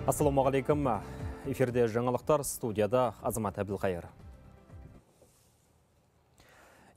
Ассалаумағалейкум. Эфирде жаңалықтар, студияда Азамат Әбілқайыр.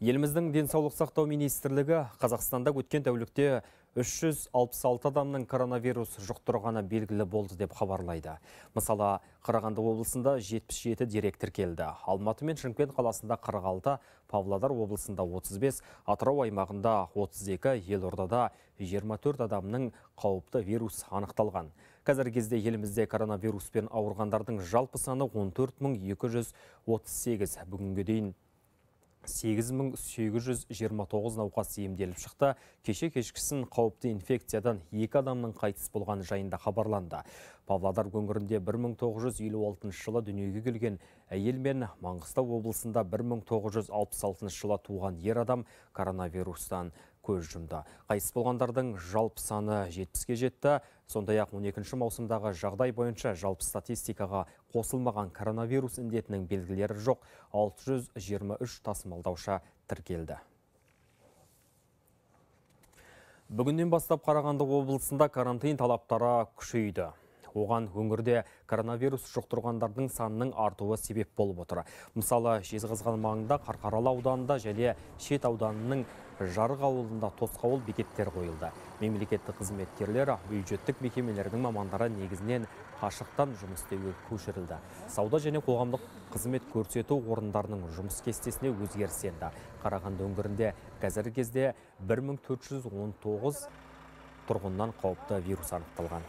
Еліміздің денсаулық сақтау министрлігі Қазақстанда өткен тәулікте 366 адамның коронавирус жұқтырғаны белгілі болды деп хабарлайды. Мысалы, Қарағанды облысында 77 дерек тіркелді. Алматы мен Шымкент қаласында 46, Павлодар облысында 35, Атырау аймағында 32, Елордада 24 адамның қауіпті вирус анықталған. Қазіргі кезде елімізде коронавируспен ауырғандардың жалпы саны 14.238. Бүгінге дейін 8.829 науқас емделіп шықты. Кеше кешкісін қауіпті инфекциядан 2 адамның қайтыс болған жайында хабарланды. Павлодар өңірінде 1956 жылы дүниеге келген әйел мен Маңғыстау облысында 1966 жылы туған ер адам коронавирустан көз жұмды. Қайтыс болғандардың жалпы саны 70-ге жетті. Сондай-ақ 12 маусымдағы жағдай бойынша жалпы статистикаға қосылмаған коронавирус індетінің белгілері жоқ 623 тасымалдаушы тіркелді. Бүгіннен бастап Қарағанды облысында карантин талаптары күшейді. Оған өңірде коронавирус жұқтырғандардың санының артуы себеп болып отыр. Мысалы, Жезқазған маңында Қарқаралы ауданында және Шет ауданының Жарық ауылында тосқауыл бекеттер қойылды. Мемлекеттік қызметкерлер, бюджеттік мекемелердің мамандары негізінен қашықтан жұмыс істеуге көшірілді. Сауда және қоғамдық қызмет көрсету орындарының жұмыс кестесіне өзгеріс енді. Қарағанды өңірінде қазіргі кезде 1419 тұрғыннан қауіпті вирус анықталған.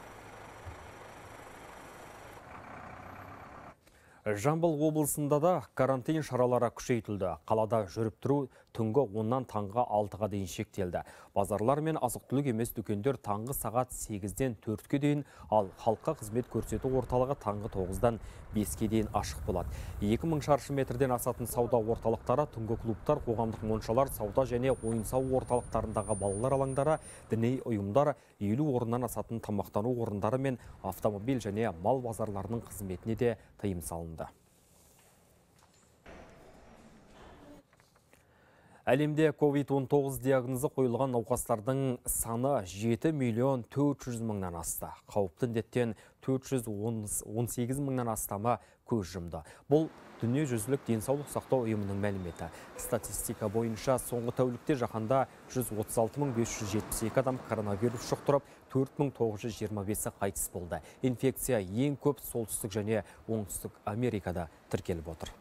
Жамбыл облысында да карантин шаралары күшейтілді. Қалада жүріп тұру түнгі 10-нан таңғы 6-ға дейін шектелді. Базарлар мен азық-түлік емес дүкендер таңғы сағат 8-ден 4-ке дейін, ал халыққа қызмет көрсету орталығы таңғы 9-дан 5-ке дейін ашық болады. 2000 шаршы метрден асатын сауда орталықтары, түнгі клубтар, қоғамдық моншалар, сауда және ойын-сауық орталықтарындағы балалар алаңдары, діни ұйымдар, 50 орыннан асатын тамақтану орындары мен автомобиль және мал базарларының қызметіне де тыйым салынды. Әлемде COVID-19 диагнозы қойылған науқастардың саны 7.400.000-нан асты. Қауіпті індеттен 418.000-нан астамы көз жұмды. Бұл дүниежүзілік денсаулық сақтау ұйымының мәліметі. Статистика бойынша соңғы тәулікте жаһанда 136.572 адам коронавирус жұқтырып, 4.925-і қайтыс болды. Инфекция ең көп солтүстік және оңтүстік Америкада тіркеліп отыр.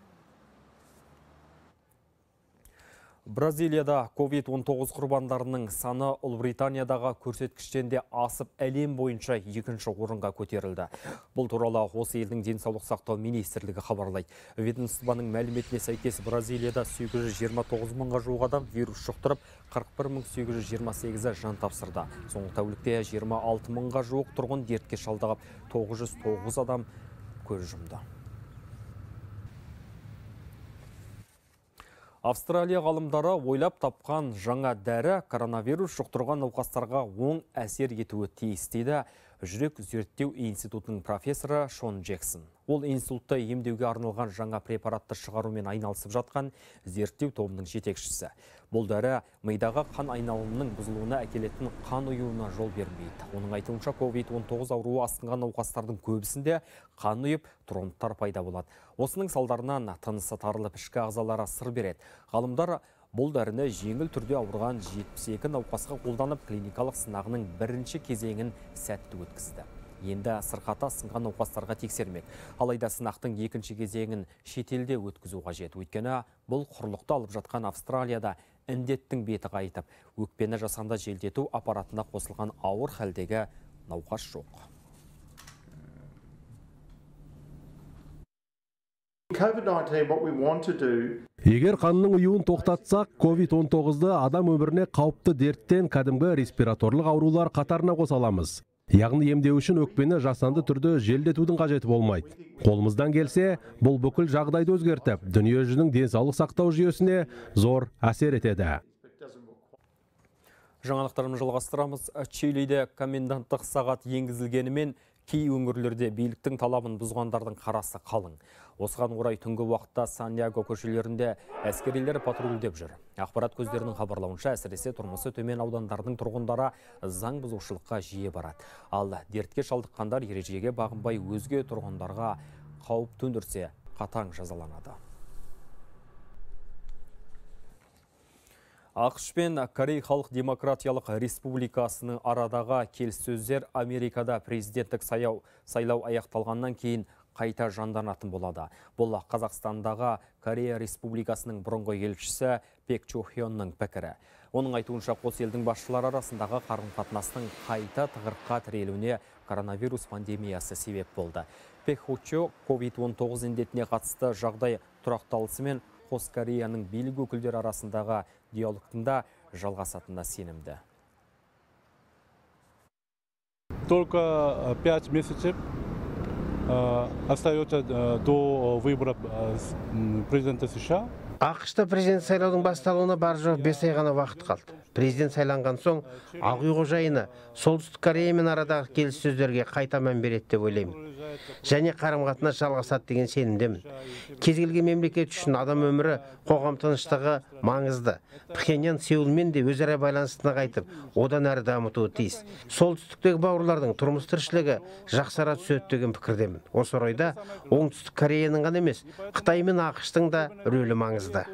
Бразилияда COVID-19 құрбандарының саны Ұлыбританиядағы көрсеткіштен де асып әлем бойынша екінші орынға көтерілді. Бұл туралы осы елдің денсаулық сақтау министрлігі хабарлайды. Ведомствоның мәліметіне сәйкес Бразилияда 829 мыңға жуық адам вирус жұқтырып, 41.828-і жан тапсырды. Соңғы тәулікте 26 мыңға жуық тұрғын дертке шалдығып, 909 адам көз жұмды. Австралия ғалымдары ойлап тапқан жаңа дәрі коронавирус жұқтырған науқастарға оң әсер етуі тиіс дейді жүрек зерттеу институтының профессоры Шон Джексон. Ол институтта емдеуге арналған жаңа препаратты шығарумен айналысып жатқан зерттеу тобының жетекшісі. Бұл дәрі мидағы қан айналымының бұзылуына әкелетін қан ұюына жол бермейді. Оның айтуынша COVID-19 ауруы асқынған науқастардың көбісінде қан ұйып, тромбтар пайда болады. Осының салдарынан тынысы тарылып, ішкі ағзалары сыр береді. Ғалымдар бұл дәріні жеңіл түрде ауырған 72 науқасқа қолданып, клиникалық сынағының бірінші кезеңін сәтті өткізді. Енді сырқаты асқынған науқастарға тексермек. Алайда сынақтың екінші кезеңін шетелде өткізу қажет. Өйткені бұл құрлықты алып жатқан Австралияда індеттің беті қайтып, өкпені жасанды желдету аппаратына қосылған ауыр халдегі науқас жоқ. Егер қанның ұюын тоқтатсақ, COVID-19-ды адам өміріне қауіпті дерттен кәдімгі респираторлық аурулар қатарына қоса аламыз. Яғни емдеу үшін өкпені жасанды түрде желдетудің қажеті болмайды. Қолымыздан келсе, бұл бүкіл жағдайды өзгертіп, дүниежүзінің денсаулық сақтау жүйесіне зор әсер етеді. Жаңалықтарымызды жалғастырамыз. Чилиде коменданттық сағат енгізілгенімен Кей өңірлерде биліктің талабын бұзғандардың қарасы қалың. Осыған орай түнгі уақытта Сантьяго көшелерінде әскерилер патрульдеп жүр. Ақпарат көздерінің хабарлауынша, әсіресе тұрмысы төмен аудандардың тұрғындары заң бұзушылыққа жиі барады. Ал дертке шалдыққандар ережеге бағынбай өзге тұрғындарға қауіп төндірсе қатаң жазаланады. ақш пен Корей Халық Демократиялық Республикасының арадағы келіссөздер Америкада президенттік сайлау аяқталғаннан кейін қайта жанданатын болады. Бұл Қазақстандағы Корея Республикасының бұрынғы елшісі Пек Чо Хённың пікірі. Оның айтуынша, қос елдің басшылары арасындағы қарым-қатынастың қайта тығырыққа тірелуіне коронавирус пандемиясы себеп болды. Пек Чо COVID-19 індетіне қатысты жағдай тұрақталысымен қос Кореяның билік өкілдері арасындағы диалогтың да жалғасатынына сенімді. Только 5 месяцев остается до выбора президента США. ақш-та президент сайлаудың басталуына бар жоқ 5 ай ғана уақыт қалды. Президент сайланған соң, Ақ үй қожайыны Солтүстік Кореямен арадағы келіссөздерге қайта мән береді деп ойлаймын. Және қарым-қатынас жалғасады деген сенімдемін. Кез келген мемлекет үшін адам өмірі, қоғам тыныштығы маңызды. Пхеньян Сеулмен де өзара байланысты нығайтып, одан әрі дамытуы тиіс. Солтүстіктегі бауырлардың тұрмыс тіршілігі жақсара түседі деген пікірдемін. Осы орайда Оңтүстік Кореяның ғана емес, Қытай мен ақш-тың да рөлі маңызды.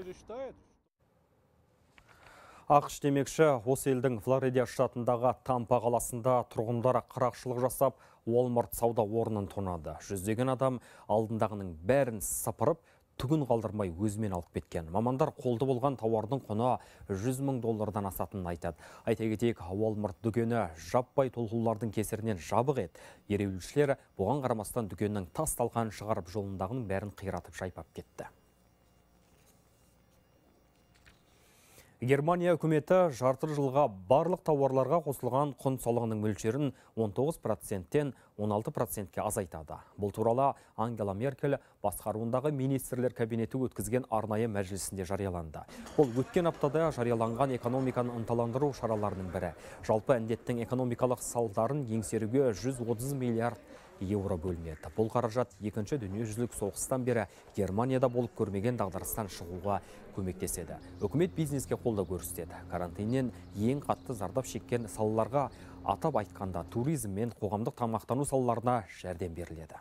ақш демекші, осы елдің Флорида штатындағы Тампа қаласында тұрғындары қарақшылық жасап, Walmart сауда орнын тонады. Жүздеген адам алдындағының бәрін сапырып, түгін қалдырмай өзімен алып кеткен. Мамандар қолды болған тауардың құны $100,000 асатынын айтады. Айта кетейік, Walmart дүкені жаппай толқулардың кесірінен жабық еді. Ереуілшілер бұған қарамастан дүкеннің тас талқанын шығарып, жолындағының бәрін қиратып жайпап кетті. Германия үкіметі жарты жылға барлық тауарларға қосылған құн салығының мөлшерін 19%-тен 16%-ке азайтады. Бұл туралы Ангела Меркель басқаруындағы министрлер кабинеті өткізген арнайы мәжілісінде жарияланды. Бұл өткен аптада жарияланған экономиканы ынталандыру шараларының бірі. Жалпы індеттің экономикалық салдарын еңсеруге 130 миллиард евро бөлінеді. Бұл қаражат екінші дүниежүзілік соғыстан бері Германияда болып көрмеген дағдарыстан шығуға көмектеседі. Үкімет бизнеске қолдау көрсетеді. Карантиннен ең қатты зардап шеккен салаларға, атап айтқанда туризм мен қоғамдық тамақтану салаларына жәрдем беріледі.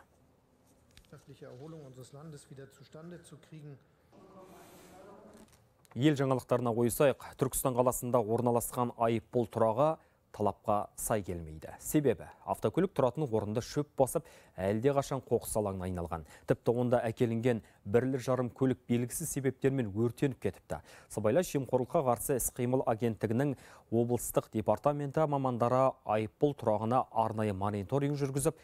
Ел жаңалықтарына ойысайық, Түркістан қаласында орналасқан айыппұл тұрағы талапқа сай келмейді. Себебі автокөлік тұратын орынды шөп басып, әлде қашан қоқыс алаңына айналған. Тіпті онда әкелінген 1,5 көлік белгісіз себептермен өртеніп кетіпті. Сыбайлас жемқорлыққа қарсы іс-қимыл агенттігінің облыстық департаменті мамандары айыппұл тұрағына арнайы мониторинг жүргізіп,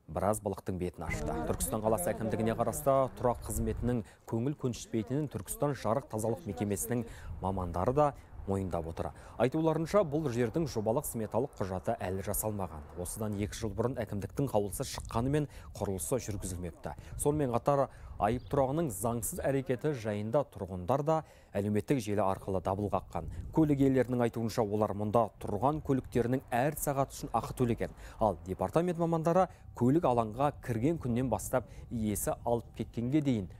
біраз балықтың бетін ашты. Түркістан қаласы әкімдігіне қарасты тұрақ қызметінің көңіл көншітпейтінін Түркістан жарық тазалық мекемесінің мамандары да мойындап отыр. Айтуларынша, бұл жердің жобалық сметалық құжаты әлі жасалмаған. Осыдан 2 жыл бұрын әкімдіктің қаулысы шыққанымен құрылысы жүргізілмепті. Сонымен қатар айып тұрағының заңсыз әрекеті жайында тұрғындар да әлеуметтік желі арқылы дабыл қаққан. Көлік иелерінің айтуынша, олар мұнда тұрған көліктерінің әр сағат үшін ақы төлеген. Ал департамент мамандары көлік алаңға кірген күннен бастап иесі алып кеткенге дейін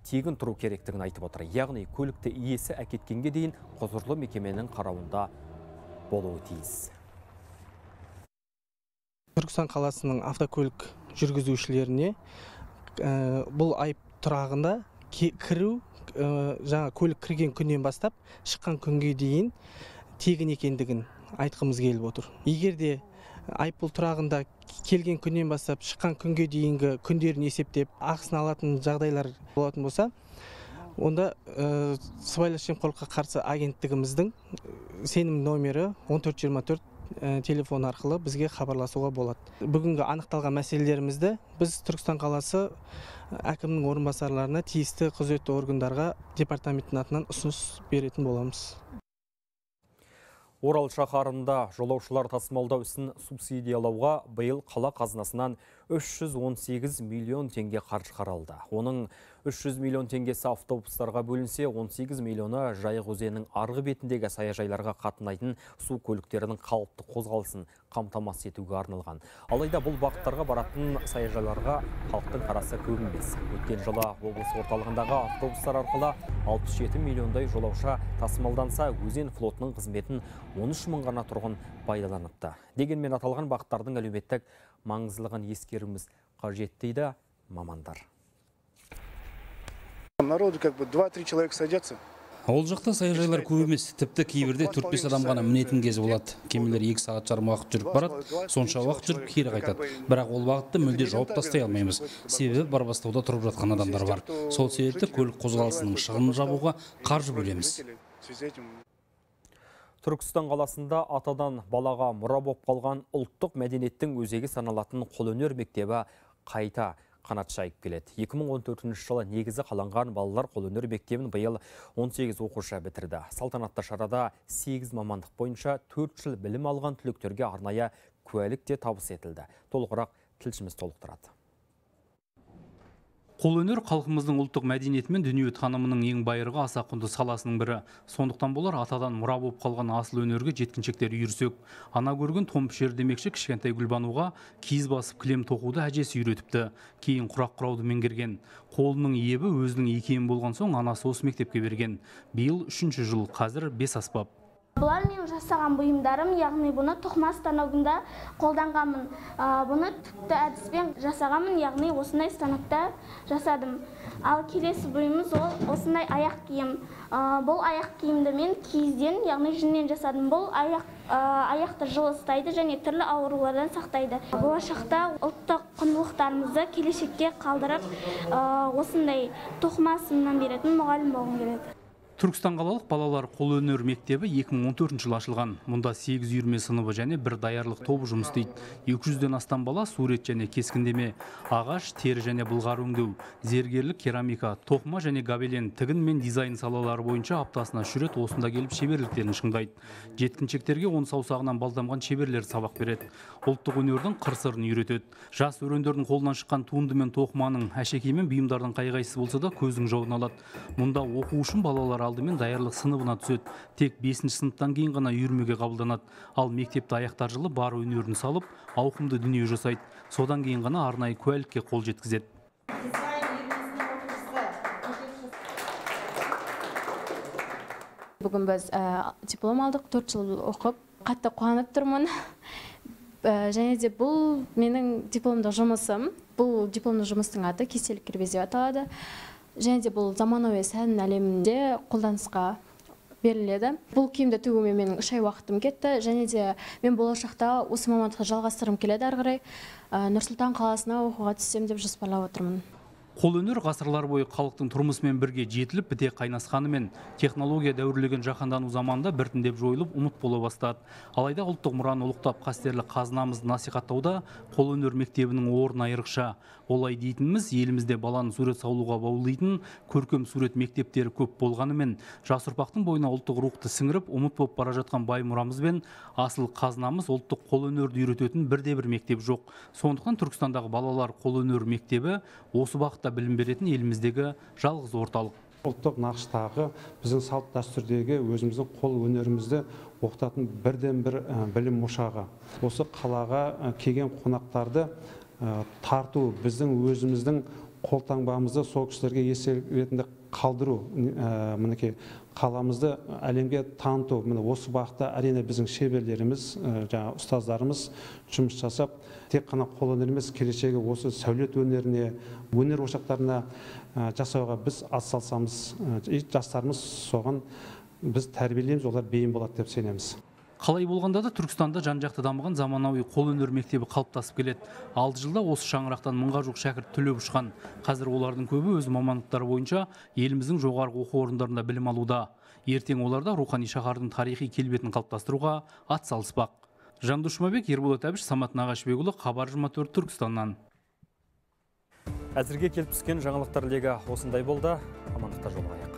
тегін тұру керектігін айтып отыр. Яғни көлікті иесі әкеткенге дейін құзырлы мекеменің қарауында болуы тиіс. Түркістан қаласының автокөлік жүргізушілеріне бұл айып тұрағында кіру, жаңа көлік кірген күннен бастап шыққан күнге дейін тегін екендігін айтқымыз келіп отыр. Егер де айыппұл тұрағында келген күннен бастап шыққан күнге дейінгі күндерін есептеп ақысын алатын жағдайлар болатын болса, онда сыбайлас жемқорлыққа қарсы агенттігіміздің сенім номері 1424 телефон арқылы бізге хабарласуға болады. Бүгінгі анықталған мәселелерімізді біз Түркістан қаласы әкімнің орынбасарларына, тиісті құзыретті органдарға департаменттің атынан ұсыныс беретін боламыз. Орал шаһарында жолаушылар тасымалдау ісін субсидиялауға биыл қала қазынасынан 318 миллион теңге қаржы қаралды. Оның 300 миллион теңгесі автобустарға бөлінсе, 18 миллионы Жайық өзенінің арғы бетіндегі саяжайларға қатынайтын су көліктерінің қалыпты қозғалысын қамтамасыз етуге арналған. Алайда бұл бағыттарға баратын саяжайларға халықтың қарасы көп емес. Өткен жылы облыс орталығындағы автобустар арқылы 67 миллиондай жолаушы тасымалданса, өзен флотының қызметін 13 мың ғана тұрғын пайдаланыпты. Дегенмен аталған бағыттардың әлеуметтік маңыздылығын ескеруіміз қажет дейді мамандар. Народу 2-3 человека садятся. Ол жақта саяжайлар көп емес, тіпті кейбірде 4-5 адам ғана мінетін кез болады. Кемелер 2 сағат жарым уақыт жүріп барады, сонша уақыт жүріп кері қайтады. Бірақ ол бағытты мүлде жауып тастай алмаймыз. Себебі Барбастауда тұрып жатқан адамдар бар. Сол себепті көлік қозғалысының шығынын жабуға қаржы бөлеміз. Түркістан қаласында атадан балаға мұра болып қалған ұлттық мәдениеттің өзегі саналатын қолөнер мектебі қайта қанат жайып келеді. 2014 жылы негізі қаланған балалар қолөнер мектебін биыл 18 оқушы бітірді. Салтанатты шарада 8 мамандық бойынша 4 жыл білім алған түлектерге арнайы куәлік те табыс етілді. Толығырақ тілшіміз толықтырады. Қолөнер халқымыздың ұлттық мәдениеті мен дүние танымының ең байырғы аса құнды саласының бірі. Сондықтан болар атадан мұра болып қалған асыл өнерге жеткіншектер үйірсек. Ана көрген томп шер демекші кішкентай Гүлбануға киіз басып кілем тоқуды әжесі үйретіпті. Кейін құрақ құрауды меңгерген. Қолының ебі өзінің екеуін болған соң анасы осы мектепке берген. Биыл 3-ші жыл, қазір 5 аспап. Бұлар мен жасаған бұйымдарым, яғни бұны тоқыма станогында қолданғанмын. Бұны түпті әдіспен жасағанмын, яғни осындай станокта жасадым. Ал келесі бұйымыз осындай аяқ киім. Бұл аяқ киімді мен киізден, яғни жүннен жасадым. Бұл аяқты жылы ұстайды және түрлі аурулардан сақтайды. Болашақта ұлттық құндылықтарымызды келешекке қалдырып, осындай тоқыма сынынан беретін мұғалім болғым келеді. Түркістан қалалық балалар қолөнер мектебі 2014 жылы ашылған. Мұнда 8 үйірме сыныбы және бір даярлық тобы жұмыс істейді. 200-ден астам бала сурет және кескіндеме, ағаш, тері және былғары өңдеу, зергерлік, керамика, тоқыма және гобелен, тігін мен дизайн салалары бойынша аптасына 3 рет осында келіп шеберліктерін шыңдайды. Жеткіншектерге 10 саусағынан балдамған шеберлер сабақ береді. Ұлттық өнердің қыр-сырын үйретеді. Жас өрендердің қолынан шыққан туынды мен тоқыманың, әшекей мен бұйымдардың қай-қайсысы болса да көздің жауын алады. Мұнда оқу үшін балалар алдымен даярлық сыныбына түседі. Тек 5-ші сыныптан кейін ғана үйірмеге қабылданады. Ал мектепті аяқтар жылы бар өнерін салып, ауқымды дүние жасайды. Содан кейін ғана арнайы куәлікке қол жеткізеді. Бүгін біз диплом алдық, 4 жыл оқып, қатты қуанып тұрмын. Және де бұл менің дипломдық жұмысым. Бұл дипломдық жұмыстың аты кестелік кірбез деп аталады. Және де бұл заманауи сән әлемінде қолданысқа беріледі. Бұл киімді тігуге менің 3 ай уақытым кетті. Және де мен болашақта осы мамандықты жалғастырғым келеді ары қарай. Нұр-Сұлтан қаласына оқуға түссем деп жоспарлап отырмын. Қолөнер ғасырлар бойы халықтың тұрмысымен бірге жетіліп біте қайнасқанымен технология дәуірлеген жаһандану заманда біртіндеп жойылып ұмыт бола бастады. Алайда ұлттық мұраны ұлықтап қастерлі қазынамызды насихаттауда қолөнер мектебінің орны айрықша. Олай дейтініміз, елімізде баланы сурет салуға баулитын көркем сурет мектептері көп болғанымен, жас ұрпақтың бойына ұлттық рухты сіңіріп, ұмыт болып бара жатқан бай мұрамыз бен асыл қазынамыз ұлттық қолөнерді үйрететін бірде-бір мектеп жоқ. Сондықтан Түркістандағы балалар қолөнер мектебі осы бағытта білім беретін еліміздегі жалғыз орталық. Ұлттық нақыштағы біздің салт дәстүрдегі өзіміздің қол өнерімізді оқытатын бірден бір білім ошағы. Осы қалаға келген қонақтарды тарту, біздің өзіміздің қолтаңбамызды сол кісілерге естелік ретінде қалдыру, мінекей қаламызды әлемге таныту. Міне осы бағытта әрине біздің шеберлеріміз, жаңа ұстаздарымыз жұмыс жасап, тек қана қолөнер емес, келешегі осы сәулет өнеріне, өнер ошақтарына жасауға біз атсалысамыз. Жастарымыз соған біз тәрбиелейміз, олар бейім болады деп сенеміз. Қалай болғанда да Түркістанда жан-жақты дамыған заманауи қолөнер мектебі қалыптасып келеді. 6 жылда осы шаңырақтан 1000-ға жуық шәкірт түлеп ұшқан. Қазір олардың көбі өз мамандықтары бойынша еліміздің жоғарғы оқу орындарында білім алуда. Ертең оларда рухани шаһардың тарихи келбетін қалыптастыруға атсалыспақ. Жандос Жұмабек, Ерболат Әбіш, Самат Нағашбекұлы, Хабар 24 Түркістаннан. Әзірге келіп түскен жаңалықтар легі осындай болды. Амандықта жолығайық.